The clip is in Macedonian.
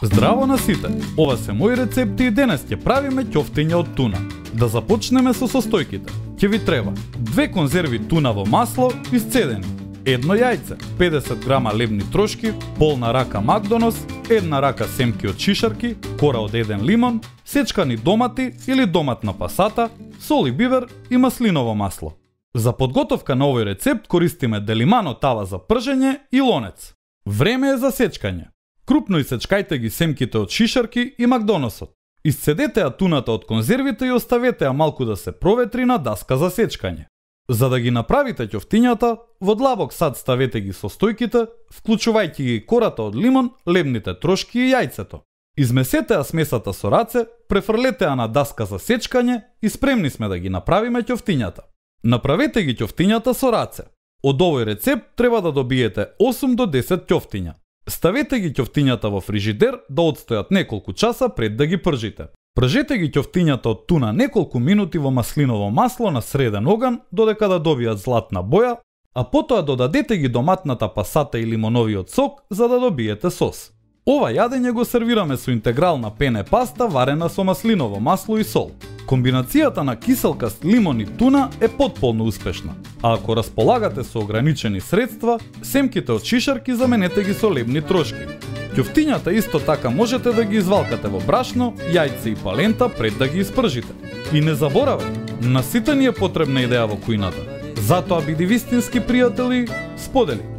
Здраво на сите! Ова се мои рецепти и денес ќе правиме ќофтиња од туна. Да започнеме со состојките. Ќе ви треба 2 конзерви туна во масло исцедени, 1 јајце, 50 грама лебни трошки, полна рака макдонос, 1 рака семки од шишарки, кора од 1 лимон, сечкани домати или доматна пасата, сол и бивер и маслиново масло. За подготовка на овој рецепт користиме делимано тава за пржење и лонец. Време е за сечкање. Крупно исечкајте ги семките од шишарки и макдоносот. Исцедете ја туната од конзервите и оставете ја малку да се проветри на даска за сечкање. За да ги направите ќофтињата, во длабок сад ставете ги состојките, вклучувајќи ги кората од лимон, лебните трошки и јајцето. Измесете ја смесата со раце, префрлете ја на даска за сечкање и спремни сме да ги направиме ќофтињата. Направете ги ќофтињата со раце. Од овој рецепт треба да добиете 8 до 10 ќофтиња. Ставете ги ќофтињата во фрижидер да одстојат неколку часа пред да ги пржите. Пржете ги ќофтињата од туна неколку минути во маслиново масло на среден оган додека да добијат златна боја, а потоа додадете ги доматната пасата и лимоновиот сок за да добиете сос. Ова јадење го сервираме со интегрална пене паста варена со маслиново масло и сол. Комбинацијата на киселкаст лимон и туна е потполно успешна, а ако располагате со ограничени средства, семките од шишарки заменете ги со лебни трошки. Ќофтињата исто така можете да ги извалкате во брашно, јајце и палента пред да ги испржите. И не заборавајте, на сите ни е потребна идеја во кујната. Затоа биди вистински пријатели, сподели.